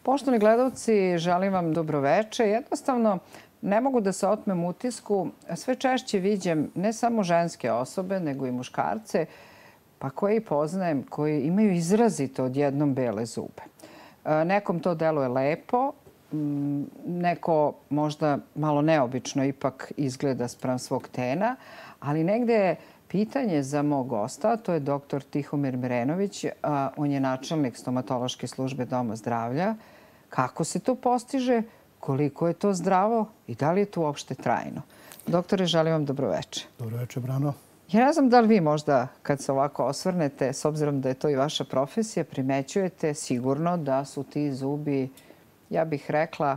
Poštovani gledalci, želim vam dobroveče. Jednostavno, ne mogu da se otmem utisku. Sve češće viđem ne samo ženske osobe, nego i muškarce, pa koje poznajem, koji imaju izrazito odjednom bele zube. Nekom to deluje lepo, neko možda malo neobično ipak izgleda spram svog tena, ali negde je pitanje za mog gosta, to je dr. Tihomir Mirenović, on je načelnik stomatološke službe Doma zdravlja. Kako se to postiže, koliko je to zdravo i da li je to uopšte trajno? Doktore, želim vam dobroveče. Dobroveče, Brano. Ja ne znam da li vi možda, kad se ovako osvrnete, s obzirom da je to i vaša profesija, primećujete sigurno da su ti zubi, ja bih rekla,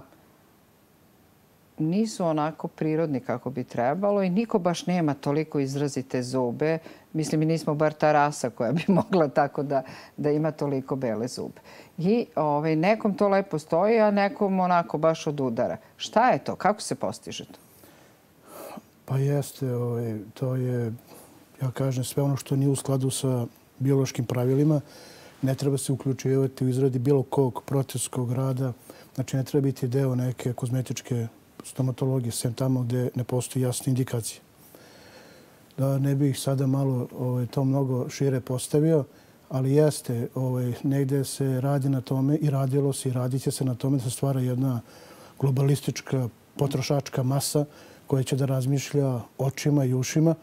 nisu onako prirodni kako bi trebalo i niko baš nema toliko izrazite zube. Mislim, mi nismo bar ta rasa koja bi mogla tako da ima toliko bele zube. I nekom to lepo stoji, a nekom onako baš od udara. Šta je to? Kako se postiže to? Pa jeste, to je, ja kažem, sve ono što nije u skladu sa biološkim pravilima. Ne treba se uključivati u izradi bilo kog protetskog rada. Znači, ne treba biti deo neke kozmetičke stomatologije, sem tamo gde ne postoji jasne indikacije. Da ne bih sada malo to mnogo šire postavio, ali jeste, negde se radi na tome i radilo se i radit će se na tome da se stvara jedna globalistička potrošačka masa koja će da razmišlja očima i ušima,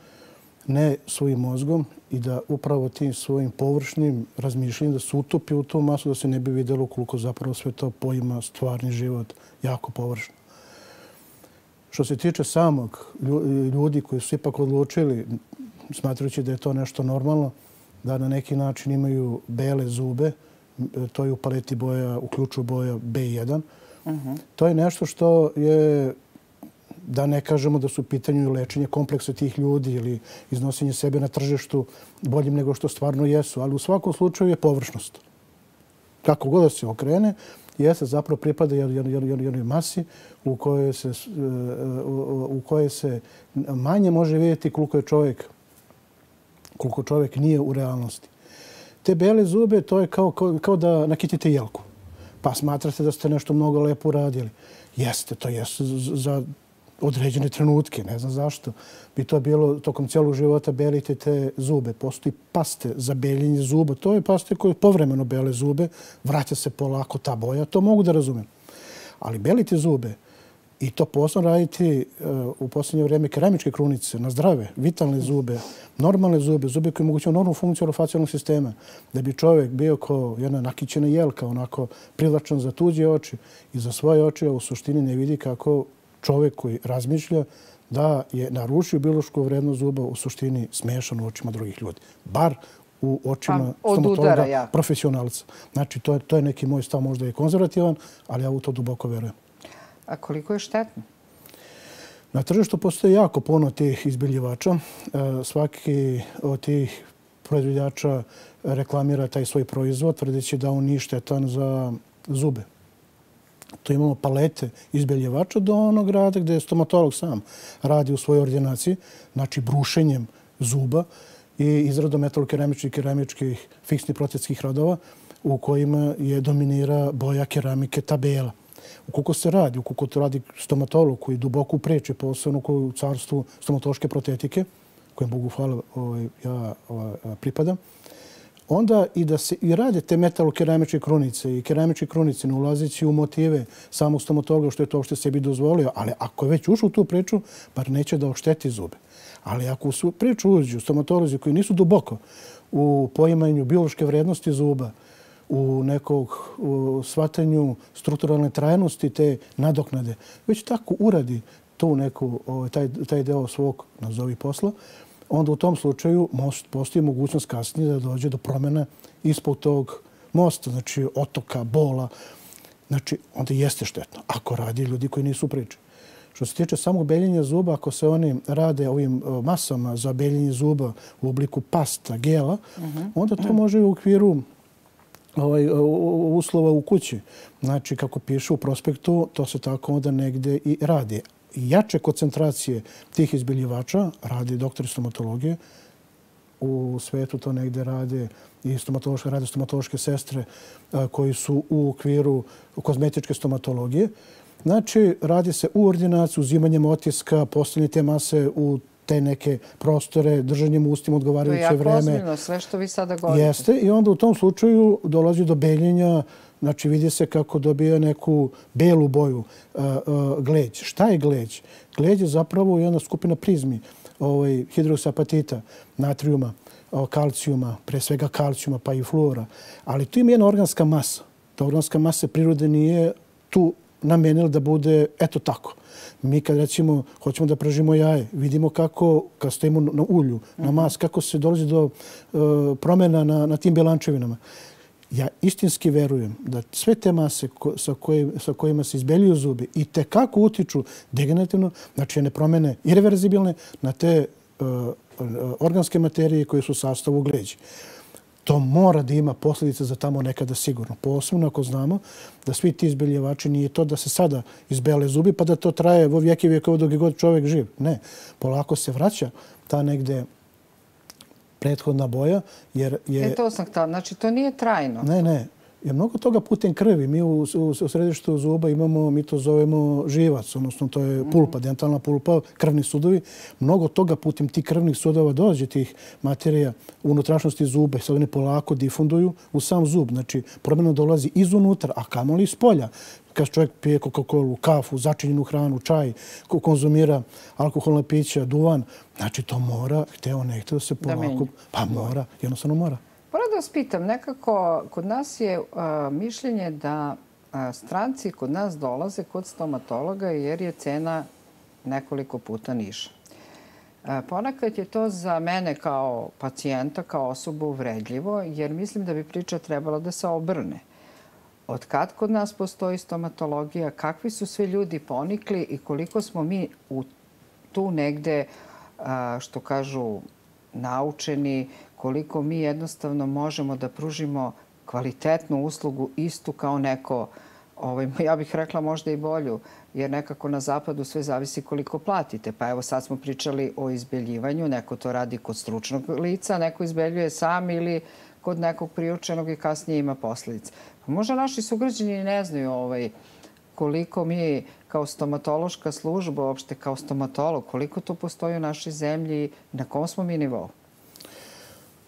ne svojim mozgom i da upravo tim svojim površnim razmišljanjem da se utopi u tu masu, da se ne bi videlo koliko zapravo sve to poima stvarni život jako površno. Što se tiče samog ljudi koji su ipak odlučili, smatrajući da je to nešto normalno, da na neki način imaju bele zube, to je u paleti boja, uključuju boja B1. To je nešto što je, da ne kažemo da su u pitanju i lečenje kompleksa tih ljudi ili iznosenje sebe na tržištu boljim nego što stvarno jesu, ali u svakom slučaju je površnost. Kako god da se okrene, jeste zapravo pripada jednoj masi u kojoj se manje može vidjeti koliko čovjek nije u realnosti. Te bele zube, to je kao da nakitite jelku. Pa smatrate da ste nešto mnogo lepo uradili. Jeste, to jeste za određene trenutke, ne znam zašto. Bi to bilo tokom cijelog života belite te zube. Postoji paste za beljenje zuba. To je paste koje povremeno bele zube, vraća se polako ta boja, to mogu da razumem. Ali belite zube i to posebno raditi u posljednje vrijeme keramičke krunice na zdrave, vitalne zube, normalne zube, zube koje omogućuju normalnu funkciju orofacijalnog sistema, da bi čovjek bio kao jedna nakićena jelka, onako privlačan za tuđe oči i za svoje oči, a u suštini ne vidi kako čovjek koji razmišlja da je narušio biološku vrednost zuba u suštini smešan u očima drugih ljudi. Bar u očima stomatologa profesionalca. Znači, to je neki moj stav, možda je konzervativan, ali ja u to duboko verujem. A koliko je štetno? Na tržištu postoji jako puno tih izbeljivača. Svaki od tih proizvođača reklamira taj svoj proizvod, tvrdeći da on nije štetan za zube. To imamo palete izbeljivača do onog rada gde stomatolog sam radi u svojoj ordinaciji, znači brušenjem zuba i izradom metalokeramičnih i keramičkih fiksnih protetskih radova u kojima je dominira boja keramike ta bela. Ukoliko se radi, ukoliko to radi stomatolog koji duboko upreče posebno u carstvu stomatološke protetike, kojem Bogu hvala ja pripadam, onda i da se i rade te metalokeramičke krunice i keramičke krunice, ne ulazeći u motive samog stomatologa što je to uopšte sebi dozvolio, ali ako je već ušao u tu priču, bar neće da ošteti zube. Ali ako u priču uđu stomatolozi koji nisu duboko u poimanju biološke vrednosti zuba, u nekog shvatanju strukturalne trajnosti te nadoknade, već tako uradi taj deo svog, nazovi, posla, onda u tom slučaju postoji mogućnost kasnije da dođe do promjena ispod tog mosta, znači otoka, bola. Znači, onda jeste štetno ako radi ljudi koji nisu u priči. Što se tiče samog beljenja zuba, ako se oni rade ovim masama za beljenje zuba u obliku pasta, gela, onda to može u okviru uslova u kući. Znači, kako piše u prospektu, to se tako onda negde i radi. Jače koncentracije tih izbeljivača radi doktori stomatologije u svetu to negde rade i stomatološke sestre koji su u okviru kozmetičke stomatologije. Znači, radi se u ordinaciji, uzimanjem otiska, postavljanje te mase u te neke prostore, držanjem u ustima odgovarajuće vreme. To je jako ozbiljno, sve što vi sada govorite. Jeste, i onda u tom slučaju dolazi do beljenja, znači vidi se kako dobija neku belu boju gleđ. Šta je gleđ? Gleđ je zapravo jedna skupina prizmi hidroksapatita, natrijuma, kalcijuma, pre svega kalcijuma pa i fluora. Ali tu ima jedna organska masa. Ta organska masa prirode nije tu namenila da bude eto tako. Mi kad recimo hoćemo da pražimo jaje, vidimo kako, kad stojimo na ulju, na mas, kako se dolazi do promjena na tim bjelančevinama. Ja istinski verujem da sve te mase sa kojima se izbeljuju zubi i tekako utiču degenerativno, znači ne promjene irreverzibilne na te organske materije koje su u sastavu gleđi. To mora da ima posljedice za tamo nekada sigurno. Posebno ako znamo da svi ti izbeljivači nije to da se sada izbele zubi pa da to traje vo vijeki vjekova dok je god čovjek živ. Ne. Polako se vraća ta negde prethodna boja jer je... To sam htala. Znači to nije trajno. Ne. Je mnogo toga putem krvi. Mi u središtu zuba imamo, mi to zovemo živac, odnosno to je pulpa, dentalna pulpa, krvni sudovi. Mnogo toga putem tih krvnih sudova dođe tih materija u unutrašnjosti zube. Sad oni polako difunduju u sam zub. Znači, promjena dolazi izunutra, a kamoli iz polja. Kad čovjek pije Coca-Colu, kafu, začinjenu hranu, čaj, konzumira alkoholna pića, duvan, znači to mora, hteo ne hteo se polako, pa mora, jednostavno mora. Moram da vas pitam, nekako kod nas je mišljenje da stranci kod nas dolaze kod stomatologa jer je cena nekoliko puta niža. Ponekad je to za mene kao pacijenta, kao osobu uvredljivo, jer mislim da bi priča trebala da se obrne. Od kad kod nas postoji stomatologija, kakvi su sve ljudi ponikli i koliko smo mi tu negde, što kažu, naučeni, koliko mi jednostavno možemo da pružimo kvalitetnu uslugu istu kao neko, ja bih rekla možda i bolju, jer nekako na zapadu sve zavisi koliko platite. Pa evo sad smo pričali o izbeljivanju, neko to radi kod stručnog lica, neko izbeljuje sam ili kod nekog priučenog i kasnije ima posljedice. Pa možda naši sugrađani ne znaju koliko mi kao stomatološka služba, uopšte kao stomatolog, koliko to postoji u našoj zemlji i na kom smo mi nivou?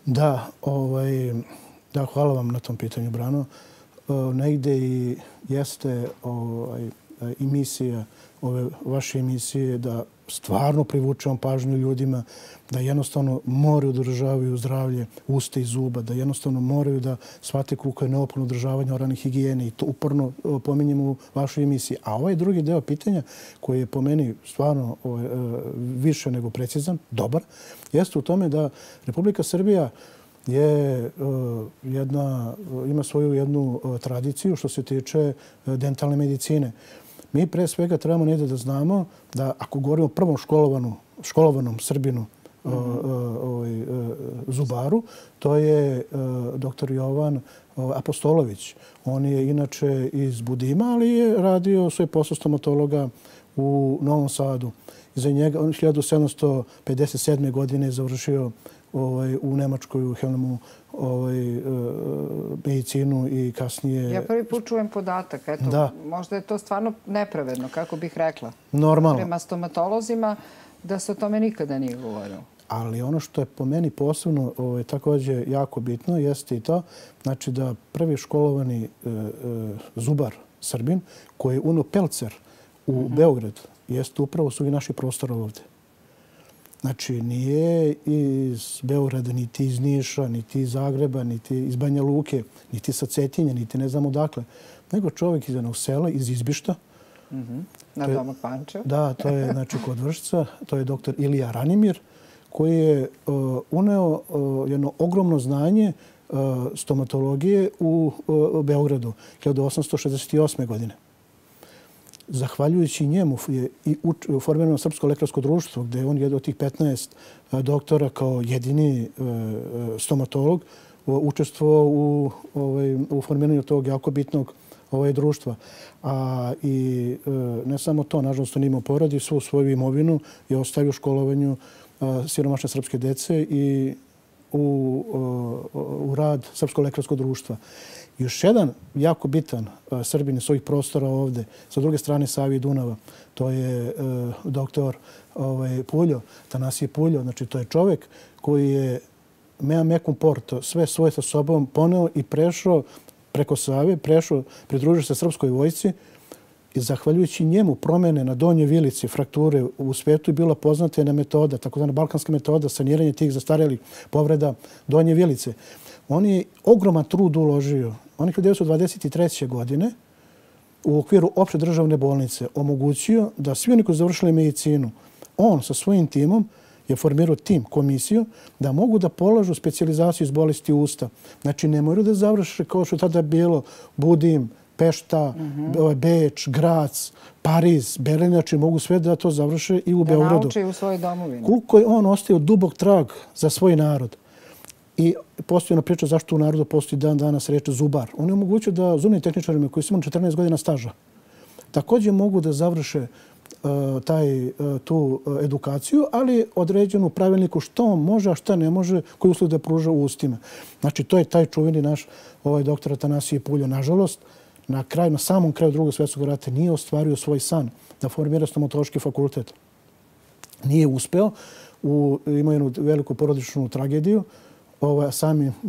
Da, hvala vam na tom pitanju, Brano. Negde i jeste i misija ove vaše emisije da stvarno privučemo pažnju ljudima, da jednostavno moraju da održavaju zdravlje usta i zuba, da jednostavno moraju da shvate koliko je neophodno održavanje oralne higijene i to uporno pominjemo u vašoj emisiji. A ovaj drugi deo pitanja koji je po meni stvarno više nego precizan, dobar, jeste u tome da Republika Srbija ima svoju jednu tradiciju što se tiče dentalne medicine. Mi pre svega trebamo negdje da znamo da ako govorimo o prvom školovanom Srbinu zubaru, to je dr. Jovan Apostolović. On je inače iz Budima, ali je radio svoj posao stomatologa u Novom Sadu. Iza njega, on 1757. godine završio u Nemačkoj, u Helmu, medicinu i kasnije... Ja prvi put čujem podatak. Eto, možda je to stvarno nepravedno, kako bih rekla. Normalno. Prema stomatolozima, da se o tome nikada nije govorilo. Ali ono što je po meni posebno također jako bitno jeste i to, znači da prvi školovani zubar Srbin koji je unio pelcer u Beograd, jeste upravo su i naši prostori ovdje. Znači, nije iz Beograda, niti iz Niša, niti iz Zagreba, niti iz Banja Luke, niti sa Cetinja, niti ne znam odakle, nego čovjek iz jednog sela, iz Izbišta. Na domu Pančev. Da, to je kod Vršca. To je dr. Ilija Ranimir, koji je uneo jedno ogromno znanje stomatologije u Beogradu 1868. godine. Zahvaljujući njemu je i formirano Srpsko lekarsko društvo, gdje je on jedan od tih 15 doktora kao jedini stomatolog učestvovao u formiranju tog jako bitnog društva. I ne samo to, nažalost, on imao porodi, svu svoju imovinu je ostavio školovanju siromašne srpske dece i u rad Srpskog lekarskog društva. Još jedan jako bitan Srbin iz svojih prostora ovde, sa druge strane Save i Dunava, to je doktor Puljo, Tanasije Puljo. Znači, to je čovek koji je mea mecum porto, sve svoje sa sobom poneo i prešao preko Save, pridružio se Srpskoj vojsci i zahvaljujući njemu promene na Donjoj Vilici, frakture u svetu je bila poznata jedna metoda, takozvana balkanska metoda, saniranje tih zastarelih povreda Donje Vilice. On je ogroman trud uložio. On je 1923. godine u okviru opšte državne bolnice omogućio da svi oni koji su završili medicinu, on sa svojim timom je formirao tim, komisiju, da mogu da polažu specijalizaciju iz bolesti usta. Znači, ne moraju da završe kao što je tada bilo Budim, Pešta, Beč, Grac, Pariz, Berlin, znači mogu sve da to završe i u Beogradu. Da nauče u svojoj domovini. Koliko je on ostavio dubog trag za svoj narod. I postoji ona priča zašto u narodu postoji dan danas reč zubar. On je omogućio da zubnim tehničarima koji su imali 14 godina staža također mogu da završe tu edukaciju, ali određenu pravilniku što on može, a šta ne može, koji uslov da pruža u ustima. Znači, to je taj čuveni naš doktor Tanasije Puljo. Nažalost, na samom kraju Drugog svjetskog rata nije ostvario svoj san da formira stomatološki fakultet. Nije uspeo, imao jednu veliku porodičnu tragediju,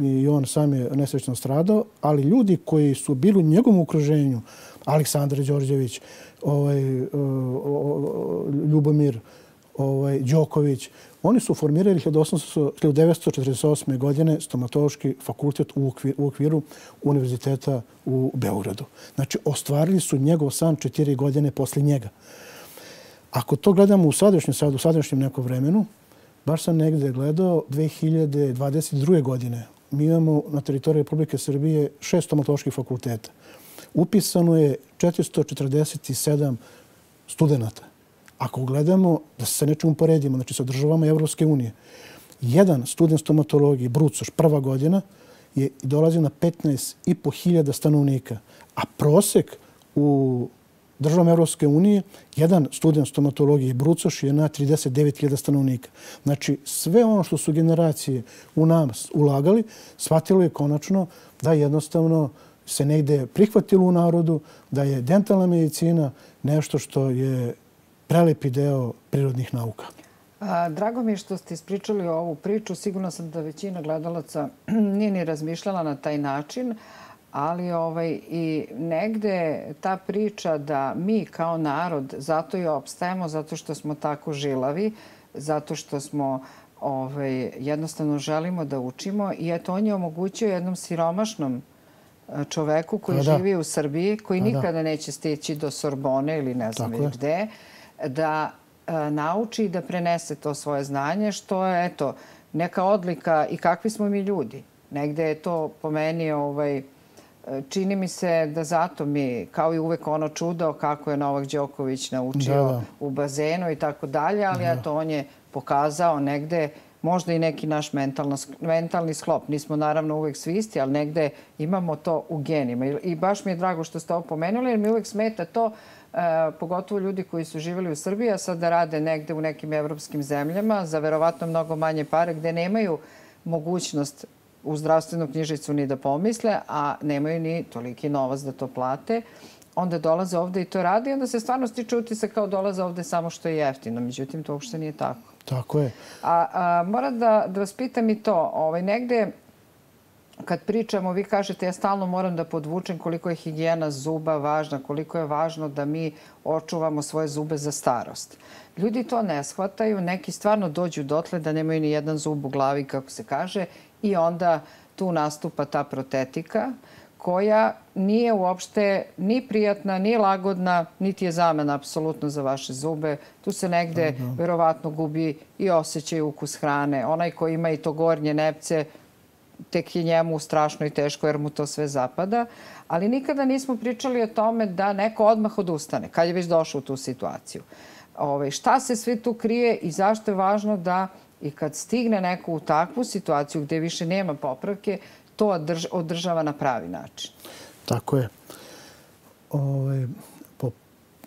i on sam je nesrećno stradao, ali ljudi koji su bili u njegovom okruženju, Aleksandar Đorđević, Ljubomir Đoković, oni su formirali 1948. godine stomatološki fakultet u okviru Univerziteta u Beogradu. Znači, ostvarili su njegov san 4 godine posle njega. Ako to gledamo u sadašnjem nekom vremenu, baš sam negde gledao 2022. godine. Mi imamo na teritoriji Republike Srbije 6 stomatoloških fakulteta. Upisano je 447 studenta. Ako gledamo da se sa nečim uporedimo, znači sa državama Evropske unije, jedan student stomatologije, Brucoš, prva godina, dolazi na 15.500 stanovnika, a prosek u državama Evropske unije, jedan student stomatologije Brucoš je na 39.000 stanovnika. Znači, sve ono što su generacije u nas ulagali, shvatilo je konačno da jednostavno se negde prihvatilo u narodu, da je dentalna medicina nešto što je prelepi deo prirodnih nauka. Drago mi je što ste ispričali ovu priču. Sigurno sam da većina gledalaca nije ni razmišljala na taj način, ali i negde ta priča da mi kao narod zato i opstajemo, zato što smo tako žilavi, zato što smo jednostavno želimo da učimo i eto on je omogućio jednom siromašnom čoveku koji živi u Srbiji, koji nikada neće stići do Sorbone ili ne znam gde, da nauči i da prenese to svoje znanje, što je eto neka odlika i kakvi smo mi ljudi. Negde je to po meni čini mi se da zato mi, kao i uvek ono čudo kako je Novak Đoković naučio u bazenu i tako dalje, ali eto on je pokazao negde možda i neki naš mentalni sklop. Nismo naravno uvek svi isti, ali negde imamo to u genima. I baš mi je drago što ste ovo pomenuli, jer mi uvek smeta to, pogotovo ljudi koji su živjeli u Srbiji, a sad da rade negde u nekim evropskim zemljama za verovatno mnogo manje pare, gde nemaju mogućnost u zdravstvenu knjižicu ni da pomisle, a nemaju ni toliki novac da to plate. Onda dolaze ovde i to radi, onda se stvarno stiče utisak kao dolaze ovde samo što je jeftino. Međutim, to uopšte nije tako. Tako je. Moram da vas pitam i to. Negde, kad pričamo, vi kažete, ja stalno moram da podvučem koliko je higijena zuba važna, koliko je važno da mi očuvamo svoje zube za starost. Ljudi to ne shvataju, neki stvarno dođu dotle da nemaju ni jedan zub u glavi, kako se kaže, i onda tu nastupa ta protetika koja nije uopšte ni prijatna, ni lagodna, niti je zamena apsolutno za vaše zube. Tu se negde verovatno gubi i osjećaj ukus hrane. Onaj koji ima i to gornje nepce, tek je njemu strašno i teško jer mu to sve zapada. Ali nikada nismo pričali o tome da neko odmah odustane, kad je već došao u tu situaciju. Šta se sve tu krije i zašto je važno da i kad stigne neko u takvu situaciju gde više nema popravke, to održava na pravi način. Tako je.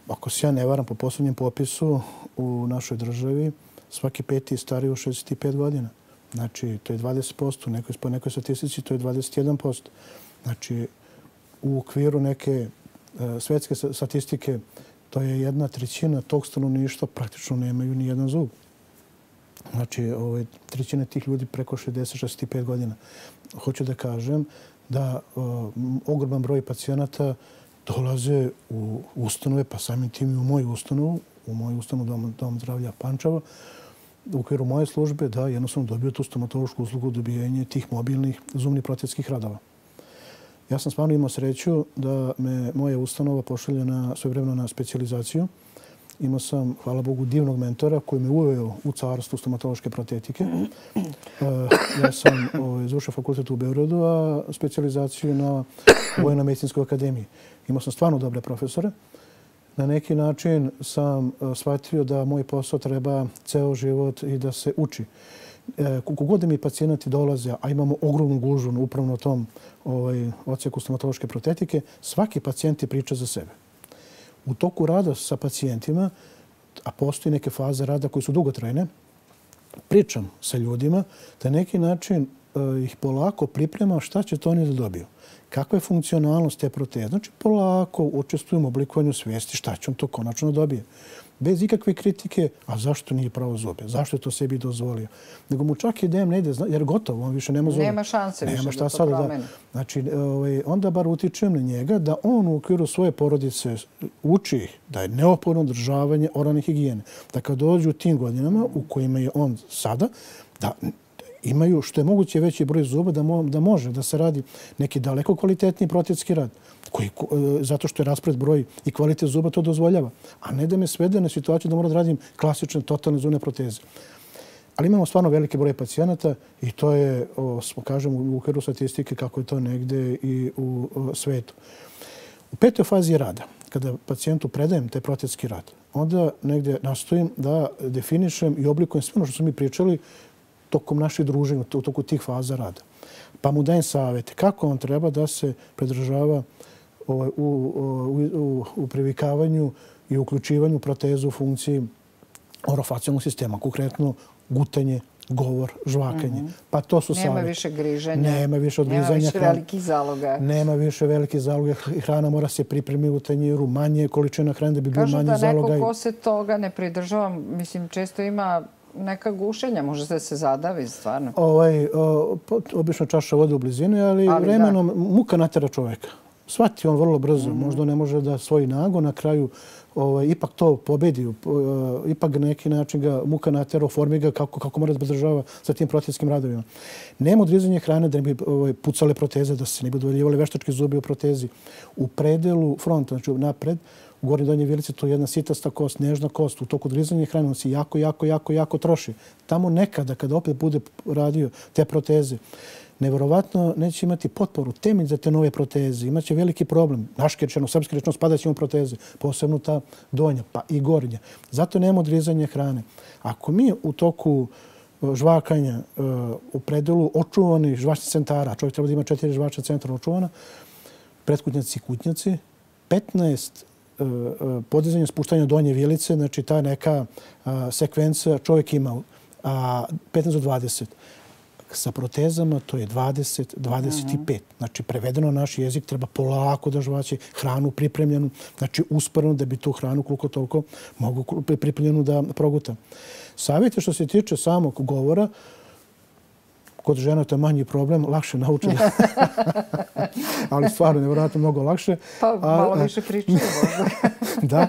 Ako se ja ne varam, po poslednjem popisu u našoj državi, svaki peti je stariji od 65 godina. Znači, to je 20%, po nekoj statistici to je 21%. Znači, u okviru neke svetske statistike to je 1/3 tog stanovništva praktično nemaju ni jedan zub. Znači, 1/3 tih ljudi preko 60-65 godina. Hoću da kažem da ogroman broj pacijenata dolaze u ustanove, pa samim tim i u moju ustanovu Dom zdravlja Pančevo, u okviru moje službe, da jednostavno dobiju tu stomatološku uslugu dobijanje tih mobilnih zubnih protetskih radova. Ja sam stvarno imao sreću da me moja ustanova pošalje svojevremeno na specijalizaciju. Imao sam, hvala Bogu, divnog mentora koji me uveo u carstvu stomatološke protetike. Ja sam završio fakultet u Beogradu, a specijalizaciju na Vojno-medicinskoj akademiji. Imao sam stvarno dobre profesore. Na neki način sam shvatio da moj posao treba ceo život i da se uči. Koliko god mi pacijenti dolaze, a imamo ogromnu gužvu upravo na tom odsjeku stomatološke protetike, svaki pacijent ti priča za sebe. U toku rada sa pacijentima, a postoji neke faze rada koje su dugotrajne, pričam sa ljudima da na neki način ih polako priprema šta će to oni da dobiju. Kakva je funkcionalnost te proteze? Znači, polako učestvujem u oblikovanju svijesti šta će on to konačno dobije. Bez ikakve kritike, a zašto nije pravo zube? Zašto je to sebi dozvolio? Nego mu čak idem ne ide, jer gotovo, on više nema zube. Nema šanse više da to promeni. Znači, onda bar utičem na njega da on u okviru svoje porodice uči ih da je neophodno održavanje oralne higijene. Da kad dođu u tim godinama u kojima je on sada, da imaju što je moguće veći broj zuba da može da se radi neki daleko kvalitetniji protetski rad. Zato što je raspored broj i kvalitet zuba to dozvoljava. A ne da me svede na situaciju da moram da radim klasične totalne zubne proteze. Ali imamo stvarno veliki broj pacijenata i to je, kažem, u okviru statistike kako je to negde i u svetu. U 5. fazi rada, kada pacijentu predajem taj protetski rad, onda negde nastojim da definišem i oblikujem sve ono što smo mi pričali tokom naših druženja, u toku tih faza rada. Pa mu dajem savjete kako on treba da se pridržava u privikavanju i uključivanju proteza u funkciji orofacijalnog sistema, konkretno gutanje, govor, žvakanje. Pa to su savjeti. Nema više griženja. Nema više odgrizanja. Nema više velikih zaloga. Nema više velikih zaloga. Hrana mora se pripremiti u tanjiru, manje količina hrane da bi bio manje zaloga. Kažu da neko ko se toga ne pridržava, mislim, često ima neka gušenja, može da se zadavi, stvarno. Obično čaša vode u blizini, ali vremenom muka natera čoveka. Shvati on vrlo brzo. Možda ne može da svoj nagon na kraju ipak to pobedi. Ipak na neki način ga muka natera, oformi ga kako mora da podržava sa tim protetskim radovima. Nema odrizanja hrane da ne bi pucale proteze, da se ne bi dovoljivali veštački zubi u protezi. U predelu fronta, znači napred, u gornjoj donjoj vilici, to je jedna sitasta kost, nežna kost. U toku odrizanja hrane on se jako troši. Tamo nekada, kada opet bude radio te proteze, nevjerovatno neće imati potporu, temelj za te nove proteze. Imaće veliki problem. Naški rečeno, srpski rečeno, spadat će mu proteze, posebno ta donja, pa i gornja. Zato nema odrizanja hrane. Ako mi u toku žvakanja u predelu očuvanih žvačnih centara, čovjek treba da ima 4 žvačna centra očuvana, pretkutnjaci i kutnjaci, 15 podizanje spuštanja donje vilice, znači ta neka sekvenca čovjek ima 15 do 20. Sa protezama to je 20, 25. Znači, prevedeno na naš jezik treba polako da žvaće hranu pripremljenu, znači usporeno da bi tu hranu koliko toliko mogu pripremljenu da proguta. Savjeti što se tiče samog govora, kod žena to je manji problem, lakše nauče. Ali stvarno, nevjerojatno mnogo lakše. Pa malo više pričaju možda. Da,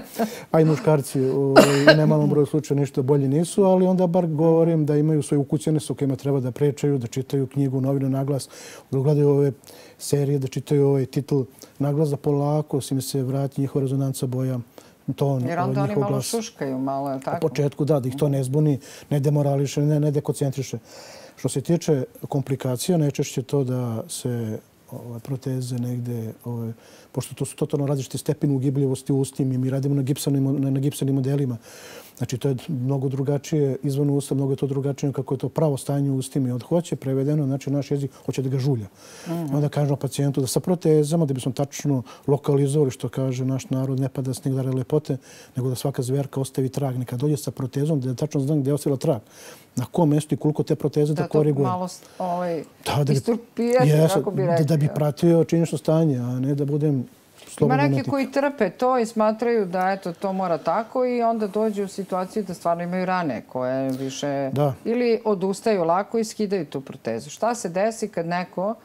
a i muškarci u nemalom broju slučaja ništa bolji nisu, ali onda bar govorim da imaju svoje ukućene sa kojima treba da pričaju, da čitaju knjigu, novinu, naglas, da gledaju ove serije, da čitaju ovaj titl naglas, da polako si mi se vrati njihova rezonanca boja. Jer onda oni malo šuškaju, malo, je li tako? U početku, da ih to ne zbuni, ne demorališe, ne dekoncentriše. Što se tiče komplikacija, najčešće to da se proteze negde, pošto to su totalno različite stepeni ugibljivosti u ustima i mi radimo na gipsanim modelima, Znači, to je mnogo drugačije izvan usta, mnogo je to drugačije kako je to pravo stanje u ustima. I od hoće prevedeno, znači naš jezik hoće da ga žulja. Onda kažemo pacijentu da sa protezama, da bismo tačno lokalizovali, što kaže naš narod, ne pada sneg dare lepote, nego da svaka zverka ostavi trag. Neka dođe sa protezom, da tačno znam gdje je ostavila trag. Na kom mjestu i koliko te proteze da koriguje. Da to malo isturpijati, kako bi rekli. Da bi pratio činjenično stanje, a ne da budem slobodno umetnik. Ima neki koji trpe to i smatraju da to mora tako i onda dođu u situaciju da stvarno imaju rane koje više... Ili odustaju lako i skidaju tu protezu. Šta se desi kad neko,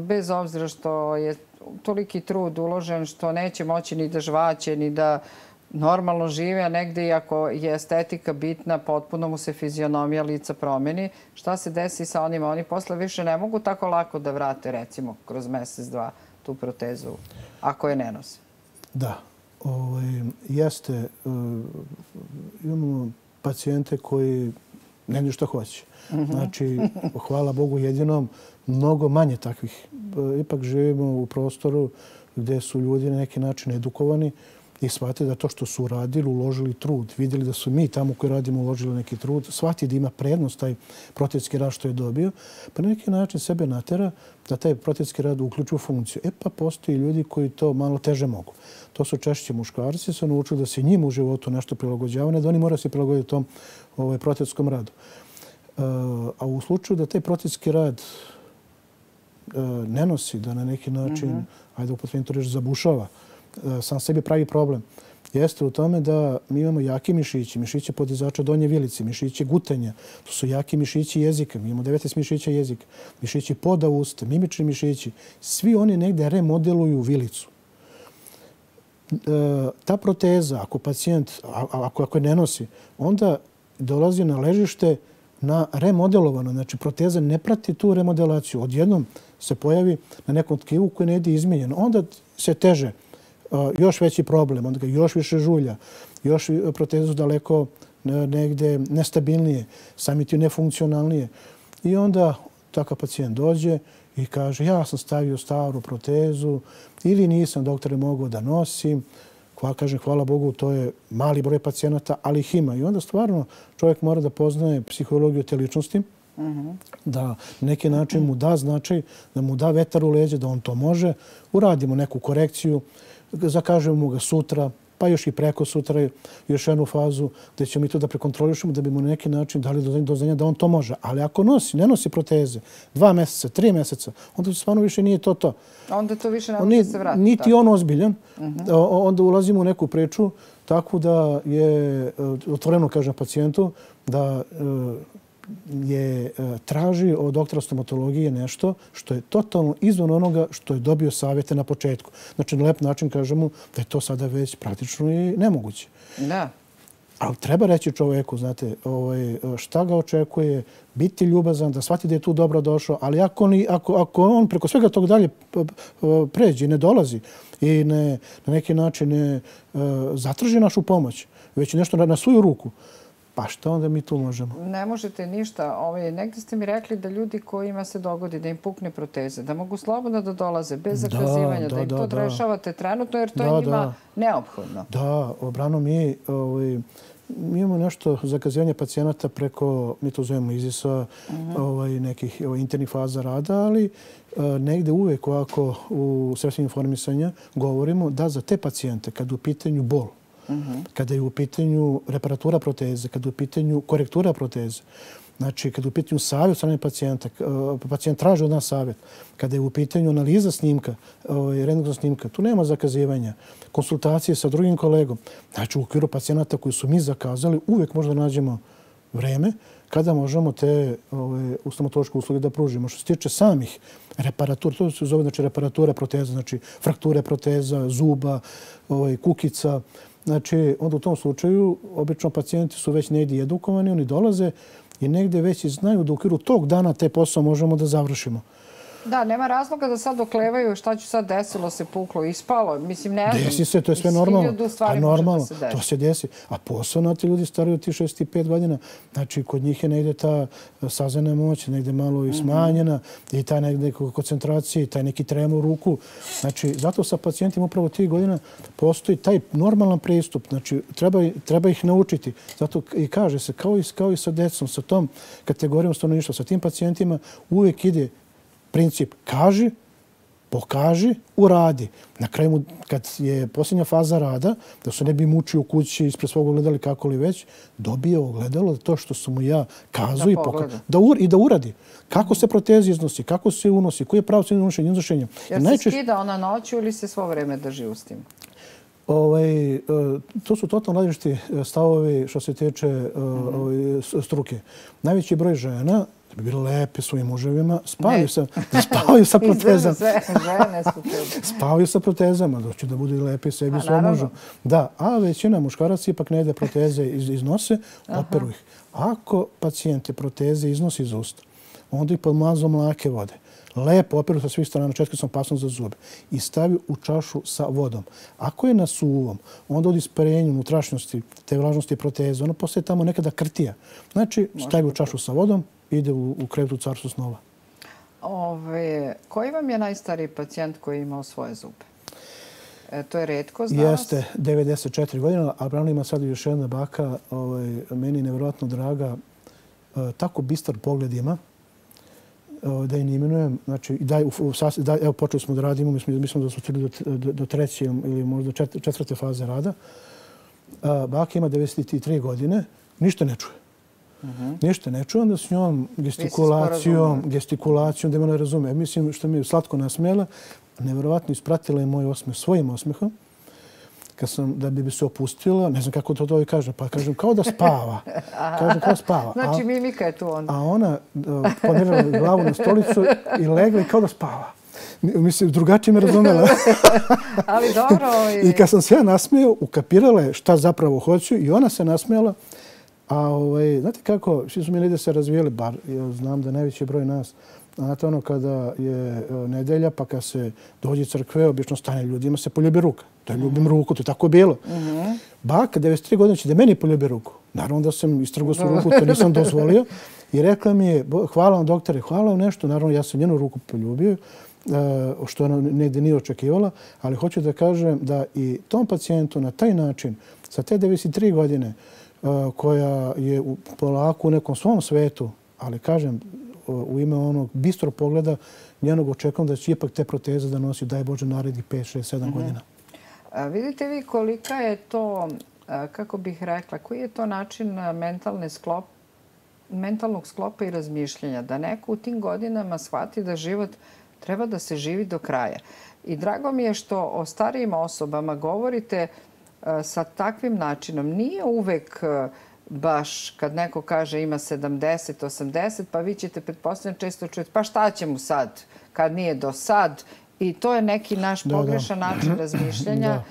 bez obzira što je toliki trud uložen, što neće moći ni da žvaće, ni da normalno žive, a negde iako je estetika bitna, potpuno mu se fizionomija lica promeni. Šta se desi sa onima? Oni posle više ne mogu tako lako da vrate, recimo, kroz mesec, dva, tu protezu, ako je ne nose. Da. Jeste. Imamo pacijente koji ne znaju šta hoće. Znači, hvala Bogu jedinom, mnogo manje takvih. Ipak živimo u prostoru gdje su ljudi na neki način edukovani i shvate da to što su uradili, uložili trud, vidjeli da su mi tamo koji radimo uložili neki trud, shvati da ima prednost taj protetski rad što je dobio, pa na neki način sebe natera da taj protetski rad uključi u funkciju. Pa postoji ljudi koji to malo teže mogu. To su češće muškarci, su naučili da se njima u životu nešto prilagođavaju, da oni moraju se prilagoditi tom protetskom radu. A u slučaju da taj protetski rad ne nosi, da na neki način, ajde upotrebim to reći, zabušava, sam sebi pravi problem, jeste u tome da mi imamo jaki mišići, mišiće podizača donje vilice, mišiće gutanja, to su jaki mišići jezika, mi imamo 19 mišića jezika, mišići poda usta, mimični mišići, svi oni negde remodeluju vilicu. Ta proteza, ako pacijent, ako je ne nosi, onda dolazi na ležište na remodelovano. Znači, proteza ne prati tu remodelaciju. Odjednom se pojavi na nekom tkivu koji ne ide izmijenjeno. Onda se teže, još veći problem, onda ga još više žulja, još protezu daleko negde nestabilnije, sami ti nefunkcionalnije. I onda takav pacijent dođe i kaže ja sam stavio staru protezu ili nisam, doktore, mogao da nosim. Kažem, hvala Bogu, to je mali broj pacijenata, ali ih ima. I onda stvarno čovjek mora da poznaje psihologiju te ličnosti, da na neki način mu da značaj, da mu da vetar u leđe, da on to može. Uradimo neku korekciju, zakažemo mu ga sutra, pa još i preko sutra, još jednu fazu gdje ćemo mi to da prekontrolišemo, da bi mu na neki način dali do znanja da on to može. Ali ako ne nosi proteze 2 mjeseca, 3 mjeseca, onda stvarno više nije to. Onda to više ne može se vratiti. Niti on ozbiljan. Onda ulazimo u neku priču takvu da je, otvoreno kažem pacijentu, da je traži od doktora stomatologije nešto što je totalno izvan onoga što je dobio savjete na početku. Znači, na lep način kažemo da je to sada već praktično i nemoguće. Da. Ali treba reći čovjeku, znate, šta ga očekuje, biti ljubazan, da shvati da je tu dobro došao, ali ako on preko svega tog dalje pređe i ne dolazi i na neki način ne zatraži našu pomoć, već nešto na svoju ruku, pa šta onda mi tu možemo? Ne možete ništa. Negdje ste mi rekli da ljudi kojima se dogodi da im pukne proteze, da mogu slobodno da dolaze bez zakazivanja, da im to rešavate trenutno jer to je njima neophodno. Da, obrano mi imamo nešto zakazivanje pacijenata preko, mi to zovemo IZIS-a, nekih internih faza rada, ali negde uvek ovako u sredstvima informisanja govorimo da za te pacijente, kad u pitanju bol, kada je u pitanju reparatura proteze, kada je u pitanju korektura proteze, znači kada je u pitanju savjet od strane pacijenta, pacijent traži od nas savjet, kada je u pitanju analiza snimka, rentgenska snimka, tu nema zakazivanja, konsultacije sa drugim kolegom. Znači u okviru pacijenata koji su mi zakazali, uvijek možda nađemo vreme kada možemo te stomatološke usluge da pružimo. Što se tiče samih reparatura, to se zove znači reparatura proteza, znači frakture proteza, zuba, kukica. Znači, onda u tom slučaju, obično pacijenti su već negdje edukovani, oni dolaze i negdje već znaju da u okviru tog dana te posao možemo da završimo. Da, nema razloga da sad oklevaju šta će sad desilo, se puklo, ispalo. Mislim, ne znam. Desi se, to je sve normalno. A normalno, to se desi. A posebno ti ljudi stariji od ti 65 godina, znači kod njih je negde ta sazena moć, negde malo i smanjena i ta negde koncentracija i taj neki tremor u ruku. Znači, zato sa pacijentima upravo tih godina postoji taj normalan pristup. Znači, treba ih naučiti. Zato i kaže se, kao i sa decom, sa tom kategorijom stanovništva, sa tim pacijentima uvijek ide princip kaži, pokaži, uradi. Na kraju, kad je posljednja faza rada, da se ne bi mučio u kući ispred svog ogledala kako li već, dobije ogledalo to što sam mu ja kazao i da uradi. Kako se protezi iznosi, kako se unosi, koji je pravo se unošenje. Jer se skida ona noću ili se svo vreme drži u tim? To su totalno različiti stavovi što se tiče struke. Najveći broj žena da bi bile lepe svojim muževima, spavaju sa protezama. Spavaju sa protezama, doći da budu lepe sebi i svom mužu. Da, a većina muškaraca ipak ne ide proteze iznose, operu ih. Ako pacijente proteze iznosi iz usta, onda ih pod mazom lake vode. Lepo operu sa svih strana, četiri sam opasnost za zube i stavi u čašu sa vodom. Ako je na suvom, onda od isparenja unutrašnjosti, te vlažnosti proteze, ono postaje tamo nekada krtija. Znači, stavi u čašu sa vodom, ide u krevetu carstvo snova. Koji vam je najstariji pacijent koji je imao svoje zube? To je retko za nas? Jeste, 94 godina, a pravno ima sad još jedna baka, meni nevjerojatno draga, tako bistar pogled ima, da je ne imenujem. Znači, evo počeli smo da radimo, mi smo da su stigli do treće ili možda četvrte faze rada. Baka ima 93 godine, ništa ne čuje. Ništa ne čuje, onda s njom gestikulacijom, da me ne razume. Mislim, što mi je slatko nasmijela, nevjerovatno ispratila je moj osmeh svojim osmehom. Kad sam, da bi se opustila, ne znam kako to i kažem, pa kažem kao da spava. Kažem kao spava. Znači mimika je tu onda. A ona ponirala glavu na stolicu i legla i kao da spava. Mislim, drugačije me razumela. Ali dobro. I kad sam se ja nasmijao, ukapirala je šta zapravo hoću i ona se nasmijala. A znate kako, svi su mi negdje se razvijeli, bar ja znam da najveći broj nas, znate ono kada je nedelja pa kad se dođe crkve, obično stane ljudima se poljubi ruka. Da ljubim ruku, to je tako bilo. Baka, 93 godine će da meni poljubi ruku. Naravno da sam istrgao svoju ruku, to nisam dozvolio. I rekla mi je, hvala vam doktore, hvala vam nešto. Naravno ja sam njenu ruku poljubio, što ona negdje nije očekivala, ali hoću da kažem da i tom pacijentu na taj način, sa te 93 godine, koja je polako u nekom svom svetu, ali kažem, u ime onog bistro pogleda, njenog očekujem da će ipak te proteze da nosi, daj Bože, narednih 5, 6, 7 godina. Vidite vi kolika je to, kako bih rekla, koji je to način mentalnog sklopa i razmišljenja, da neko u tim godinama shvati da život treba da se živi do kraja. I drago mi je što o starijim osobama govorite sa takvim načinom. Nije uvek baš kad neko kaže ima 70, 80, pa vi ćete pretpostavljeno često čujete pa šta će mu sad kad nije do sad. I to je neki naš pogrešan način razmišljanja.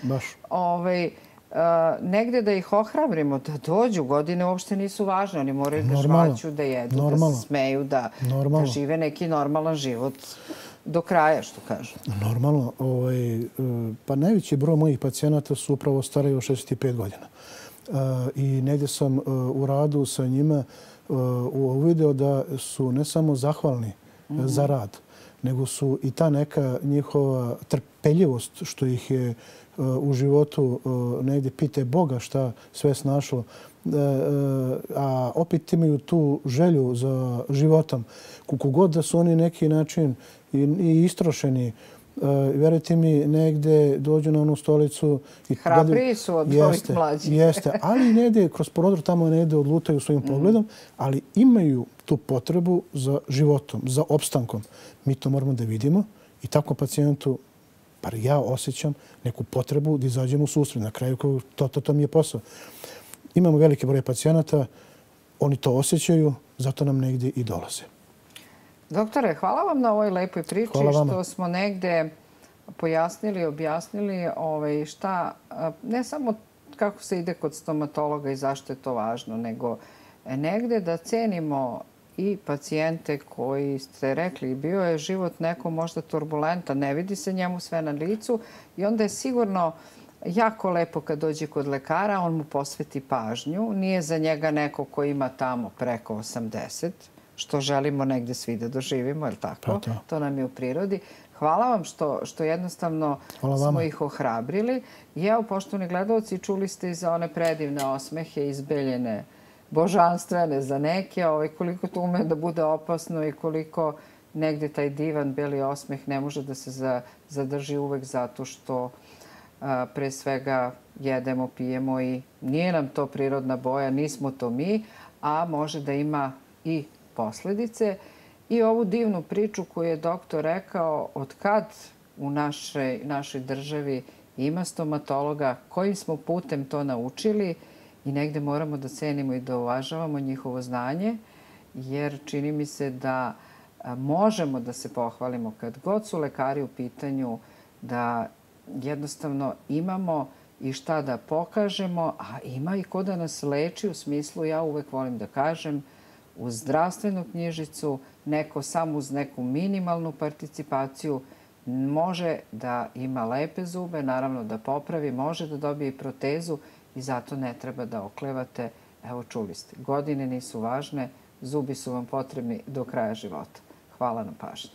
Negde da ih ohrabrimo, da dođu, godine uopšte nisu važne. Oni moraju da žvaću, da jedu, da se smeju, da žive neki normalan život do kraja, što kažu. Normalno. Pa najveći broj mojih pacijenata su upravo stariji od 65 godina. I negdje sam u radu sa njima uvidio da su ne samo zahvalni za rad, nego su i ta neka njihova trpeljivost što ih je u životu negdje pite Boga šta sve snašlo, a opet imaju tu želju za životom. Kako god da su oni neki način i istrošeni, vjerujte mi, negdje dođu na onu stolicu. Hrabriji su od ovih mlađih. Jeste, ali negdje kroz prozor tamo negdje odlutaju svojim pogledom, ali imaju tu potrebu za životom, za opstankom. Mi to moramo da vidimo i tako pacijentu, bar ja osjećam neku potrebu da izađemo u susret. Na kraju to mi je posao. Imamo veliki broj pacijenata, oni to osjećaju, zato nam negdje i dolaze. Doktore, hvala vam na ovoj lepoj priči što smo negde pojasnili, objasnili šta, ne samo kako se ide kod stomatologa i zašto je to važno, nego negde da cenimo i pacijente koji ste rekli, bio je život neko možda turbulentan, ne vidi se njemu sve na licu i onda je sigurno jako lepo kad dođe kod lekara, on mu posveti pažnju. Nije za njega neko ko ima tamo preko 80, što želimo negde svi da doživimo, je li tako? To nam je u prirodi. Hvala vam što jednostavno smo ih ohrabrili. I evo, poštovani gledalci, čuli ste i za one predivne osmehe, izbeljene, božanstvene za neke, koliko to ume da bude opasno i koliko negde taj divan beli osmeh ne može da se zadrži uvek zato što pre svega jedemo, pijemo i nije nam to prirodna boja, nismo to mi, a može da ima i posledice. I ovu divnu priču koju je doktor rekao, od kad u našoj državi ima stomatologa, kojim smo putem to naučili i negde moramo da cenimo i da uvažavamo njihovo znanje, jer čini mi se da možemo da se pohvalimo kad god su lekari u pitanju, da jednostavno imamo i šta da pokažemo, a ima i ko da nas leči u smislu, ja uvek volim da kažem, uz zdravstvenu knjižicu, neko samo uz neku minimalnu participaciju može da ima lepe zube, naravno da popravi, može da dobije i protezu i zato ne treba da oklevate. Evo, čuli ste, godine nisu važne, zubi su vam potrebni do kraja života. Hvala na pažnji.